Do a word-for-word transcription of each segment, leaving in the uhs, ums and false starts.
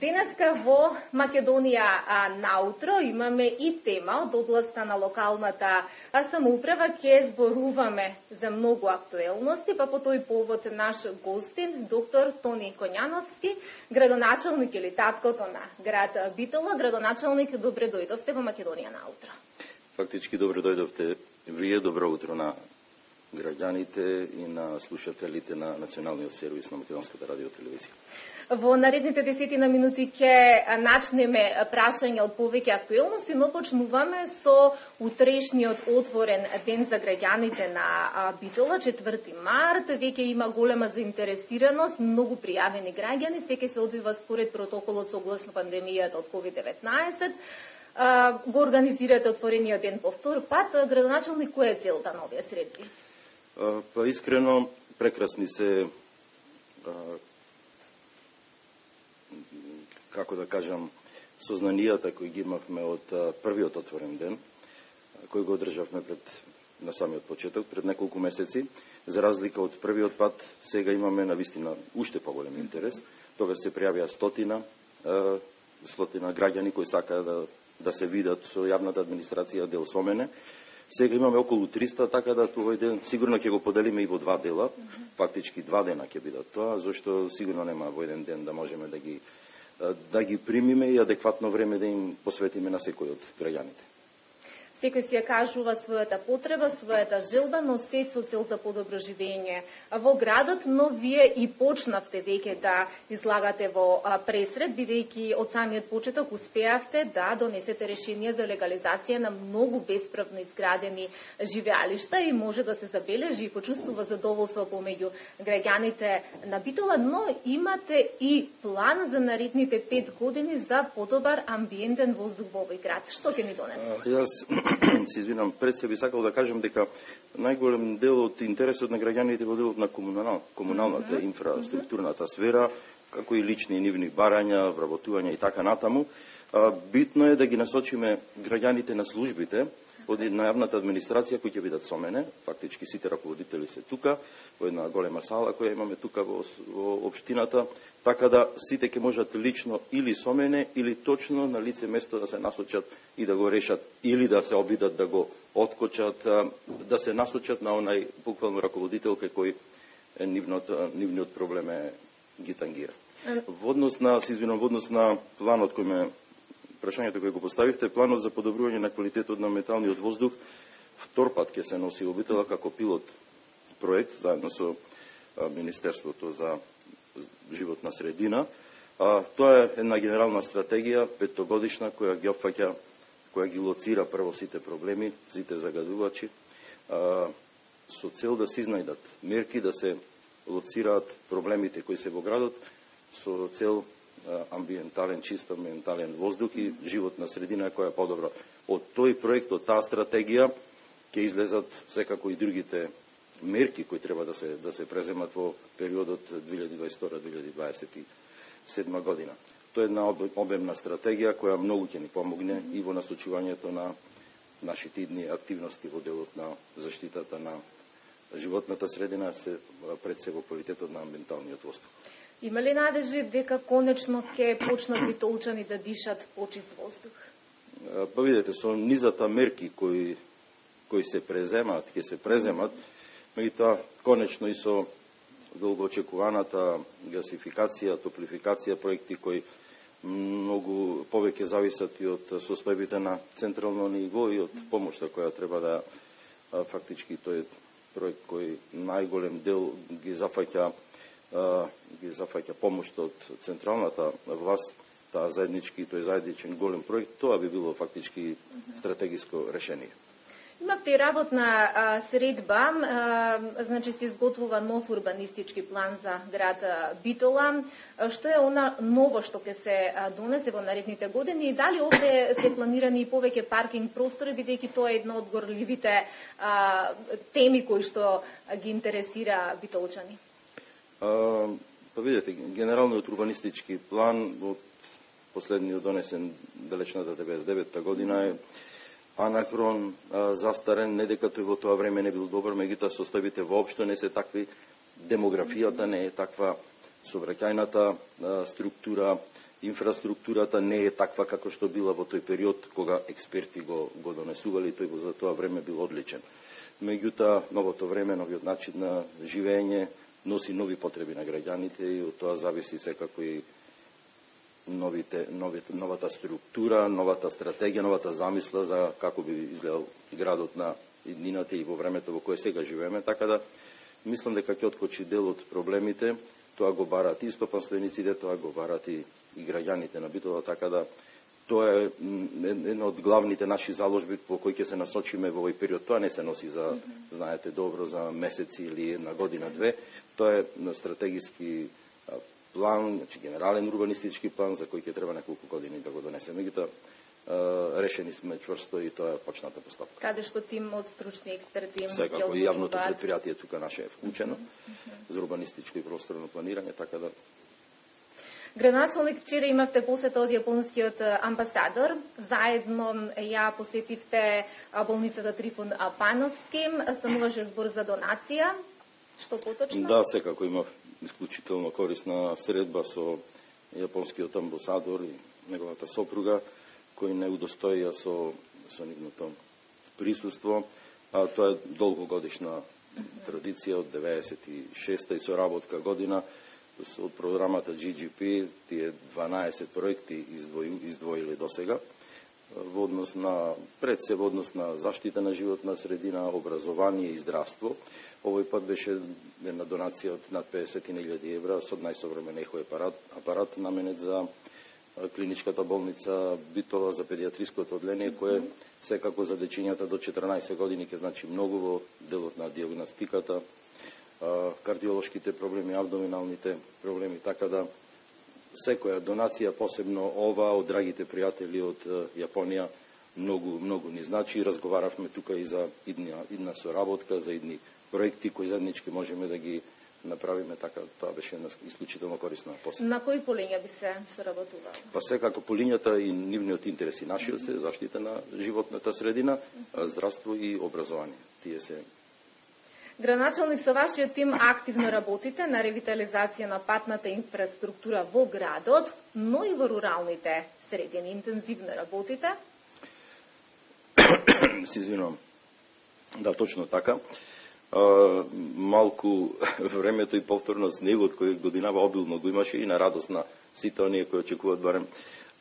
Денеска во Македонија наутро имаме и тема од областа на локалната самоуправа. Ќе зборуваме за многу актуелности, па по тој повод наш гостин, доктор Тони Коњановски, градоначалник или таткото на град Битола. Градоначалник, добре дојдовте во Македонија наутро. Фактички добре дојдовте вие, добро утро на граѓаните и на слушателите на Националниот сервис на Македонската радиотелевизија. Во наредните десетина минути ќе начнеме прашања од повеќе актуелности, но почнуваме со утрешниот отворен ден за граѓаните на Битола, четврти март. Веќе има голема заинтересираност, многу пријавени граѓани, секој се одвива според протоколот согласно пандемијата од ковид деветнаесет. Го организирате отворениот ден по втор пат. Градоначалник, која е целта на овие средби? Па искрено, прекрасни се, како да кажам, сознанијата кои ги имавме од првиот отворен ден, кој го одржавме пред на самиот почеток, пред неколку месеци. За разлика од првиот пат, сега имаме на вистина уште поголем интерес. Тогаш се пријавија стотина, стотина граѓани кои сакаат да, да се видат со јавната администрација дел со мене. Сега имаме околу триста, така да овој ден сигурно ќе го поделиме и во два дела. Фактички два дена ќе бидат тоа, зашто сигурно нема во еден ден да можеме да ги да ги примиме и адекватно време да им посветиме на секој од граѓаните. Секој си ја кажува својата потреба, својата желба, но се со цел за подобро живење во градот, но вие и почнавте веќе да излагате во пресред, бидејќи од самиот почеток успеавте да донесете решение за легализација на многу бесправно изградени живеалишта и може да се забележи и почувствува задоволство помеѓу граѓаните на Битола, но имате и план за наредните пет години за подобар амбиентен воздух во овој град. Што ќе ни донесе? Се извинам, пред се би сакал да кажам дека најголем дел од интересот на граѓаните во делот на комунал, комуналната mm -hmm. инфраструктурната сфера, како и лични и нивни барања, вработување и така натаму. Битно е да ги насочиме граѓаните на службите од на јавната администрација кои ќе бидат со мене, фактички сите раководители се тука, во една голема сала која имаме тука во, во општината, така да сите ќе можат лично или со мене, или точно на лице место да се насочат и да го решат, или да се обидат да го откочат, да се насочат на онај буквално раководител кој нивниот, нивниот проблем е ги тангира. Во однос на, се извинам, во однос на планот кој ме прашањето кој го поставивте, планот за подобрување на квалитетот на металниот воздух, втор пат ќе се носи во Битола како пилот проект, заедно со Министерството за животна средина. А, тоа е една генерална стратегија, петтогодишна, која ги опфаќа, која ги лоцира прво сите проблеми, сите загадувачи, а, со цел да се изнајдат мерки, да се лоцираат проблемите кои се во градот, со цел амбиентален, чист амбиентален воздух и животна средина која е подобра. Од тој проект, од таа стратегија, ќе излезат секако и другите мерки кои треба да се да се преземат во периодот две илјади дваесет и втора - две илјади дваесет и седма година. Тоа е една обемна стратегија која многу ќе ни помогне и во насочувањето на нашите идни активности во делот на заштитата на животната средина, се пред се во квалитетот на амбиенталниот воздух. Има ли надежи дека конечно ќе почнат битолчани да дишат почист воздух? Па видете, со низата мерки кои кои се преземат, ќе се преземат, меѓутоа конечно и со долгоочекуваната гасификација, топлификација, проекти кои многу повеќе зависат и од состојбите на централно ниво и од помошта која треба да фактички тој проект кој најголем дел ги зафаќа ги зафаќа помошта од централната власт, таа заеднички, тој заедничен голем проект, тоа би било фактички стратегиско решение. Имавте и работна а, средба, а, значи се изготвува нов урбанистички план за град Битола. Што е она ново што ќе се донесе во наредните години и дали овде се планирани и повеќе паркинг простори, бидејќи тоа е една од горливите а, теми кои што ги интересира битолчани? А, па видите, генералниот урбанистички план од последниот донесен далечната деветдесет и девета година е анахрон, а, застарен, не дека тој во тоа време не бил добар, меѓутоа составите воопшто не се такви, демографијата не е таква, совраќајната структура, инфраструктурата не е таква како што била во тој период кога експерти го, го донесували, тој го за тоа време бил одличен. Меѓутоа, новото време, новиот начин на живење носи нови потреби на граѓаните и од тоа зависи секако и новите, новите, новата структура, новата стратегија, новата замисла за како би изгледал градот на иднината и во времето во кое сега живееме, така да мислам дека ќе откочи дел од проблемите, тоа го барат и стопанствениците, тоа го барат и, и граѓаните на Битола, така да тоа е една од главните наши заложби по кои ќе се насочиме во овој период. Тоа не се носи за, mm -hmm. знаете добро, за месеци или една година, две. Тоа е стратегиски план, значи генерален урбанистички план за кој ќе треба неколку години да го донесеме. Меѓутоа, решени сме чврсто и тоа е почната постапка. Каде што тим од стручни експерти им ќе одлучуваат. Секако, јавното предпријатие тука наше е вклучено mm -hmm. за урбанистичко и просторно планирање, така да... Градоначалник, вчера имавте посета од јапонскиот амбасадор. Заедно ја посетивте болницата Трифон Пановски. Стануваше збор за донација. Што поточно? Да, секако имав исклучително корисна средба со јапонскиот амбасадор и неговата сопруга, кои не удостоија со, со нивното присуство. А тоа е долгогодишна традиција од деветдесет и шеста и соработка година од програмата Джи Джи Пи, тие дванаесет проекти издвои, издвоили до сега во однос на, пред се во однос на заштита на животна средина, образование и здравство. Овој пат беше една донација од над педесет илјади евра со најсовремен ехо апарат, апарат наменет за клиничката болница Битола, за педиатриското одделение, кое секако за дечињата до четрнаесет години ќе значи многу во делот на диагностиката, кардиолошките проблеми, абдоминалните проблеми, така да секоја донација, посебно ова од драгите пријатели од Јапонија, многу многу ни значи. Разговаравме тука и за идна, идна соработка, за идни проекти кои заеднички можеме да ги направиме, така тоа беше една исклучително корисна посета. На кои полиња би се соработувало? Па секако полињата и нивниот интерес и нашиот се заштита на животната средина, здравство и образование. Тие се. Градоначалник, со вашиот тим активно работите на ревитализација на патната инфраструктура во градот, но и во руралните средини. Интензивно работите? Се извинувам. Да, точно така. А, малку времето и повторно снегот кој годинава обилно го имаше и на радост на сите оние кои очекуваат барем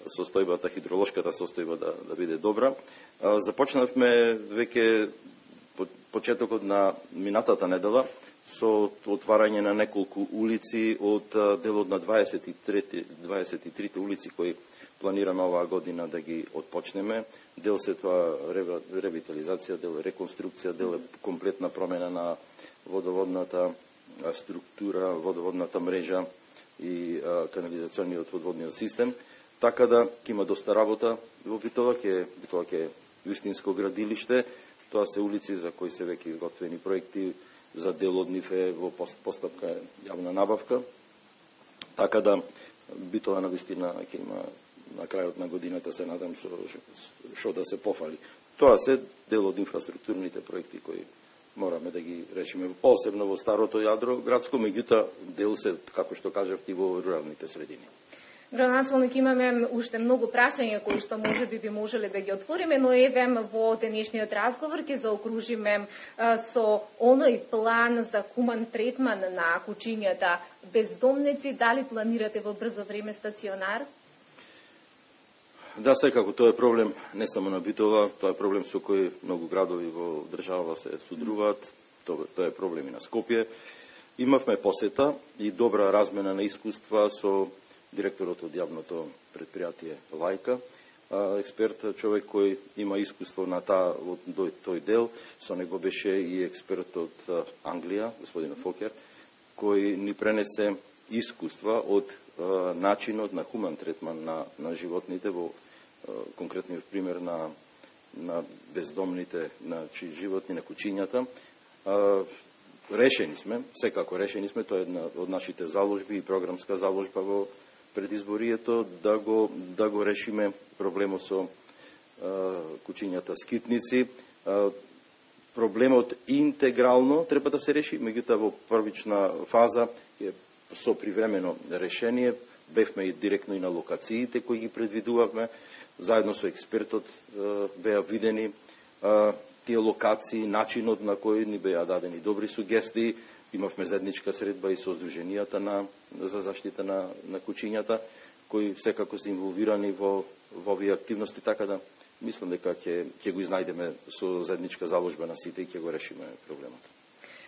состојбата, хидролошката состојба да, да биде добра. А, започнавме веќе почетокот на минатата недела со отварање на неколку улици од делот на дваесет и трите улици кои планираме оваа година да ги отпочнеме. Дел се тоа ревитализација, дел е реконструкција, дел е комплетна промена на водоводната структура, водоводната мрежа и канализационниот водоводниот систем. Така да ќе има доста работа во Битола, ќе Битола ќе вистинско градилиште. Тоа се улици за кои се веќе изготвени проекти, за дел од нив е во постапка јавна набавка. Така да Битола на вистина ќе има на крајот на годината, се надам, што да се пофали. Тоа се дел од инфраструктурните проекти кои мораме да ги решиме, посебно во старото јадро градско, меѓутоа дел се, како што кажавте, во руралните средини. Градоначалник, имаме уште многу прашања кои што може би би можеле да ги отвориме, но еве во денешниот разговор ќе заокружиме со оној план за хуман третман на кучињата бездомници. Дали планирате во брзо време стационар? Да, секако, тоа е проблем не само на Битола, тоа е проблем со кој многу градови во држава се судруваат, тоа, тоа е проблем и на Скопје. Имавме посета и добра размена на искуства со директорот од јавното предпријатие Лајка, експерт, човек кој има искуство на таа, тој дел. Со него беше и експерт од Англија, господин Фокер, кој ни пренесе искуства од начинот на хуман третман на, на животните, во конкретниот пример на, на бездомните на животни, на кучињата. Решени сме, секако решени сме, тоа е една од нашите заложби и програмска заложба во предизборието, да го, да го решиме проблемот со а, кучињата скитници. А, проблемот интегрално треба да се реши, меѓутоа во првична фаза е со привремено решение, бевме и директно и на локациите кои ги предвидувавме, заедно со експертот беа видени тие локации, начинот на кој ни беа дадени добри сугестии. Имавме заедничка средба и со здруженијата на за заштита на на кучињата, кои секако се инволвирани во во овие активности, така да мислам дека ќе ќе го изнајдеме со заедничка заложба на сите и ќе го решиме проблемот.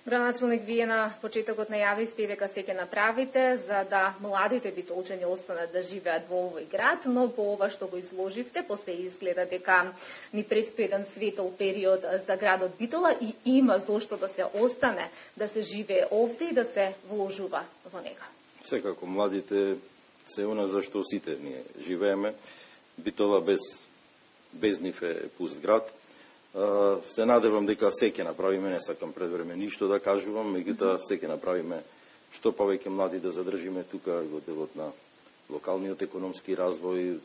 Градоначалник, вие на почетокот најавивте дека се ќе направите за да младите битолчани останат да живеат во овој град, но по ова што го изложивте, после изгледа дека ни престои еден светол период за градот Битола и има зошто да се остане, да се живее овде и да се вложува во него. Секако младите се она за што сите ние живееме. Битола без без нив е пуст град. Се надевам дека се ќе направиме, не сакам пред време ништо да кажувам, меѓутоа се ќе направиме што повеќе млади да задржиме тука во делот на локалниот економски развој,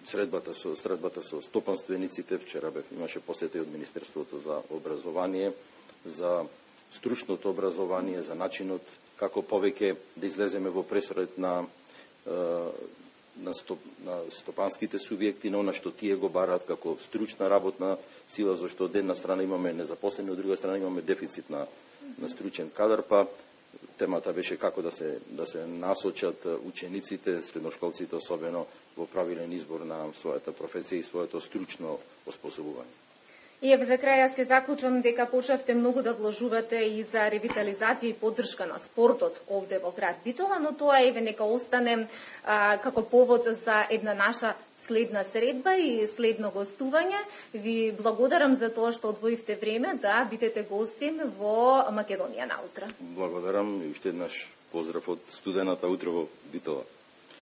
средбата со средбата со стопанствениците. Вчера бев имаше посета од Министерството за образование, за стручното образование, за начинот како повеќе да излеземе во пресред на на, стоп, на стопанските субјекти, на она што тие го бараат како стручна работна сила, зашто од една страна имаме незапослени, од друга страна имаме дефицит на, на стручен кадар, па темата беше како да се да се насочат учениците, средношколците особено во правилен избор на својата професија и своето стручно оспособување. И за крај јас ќе заклучам дека почнавте многу да вложувате и за ревитализација и поддршка на спортот овде во град Битола, но тоа еве нека остане а, како повод за една наша следна средба и следно гостување. Ви благодарам за тоа што одвоивте време да бидете гостин во Македонија наутро. Благодарам и уште еднаш поздрав од студената утро во Битола.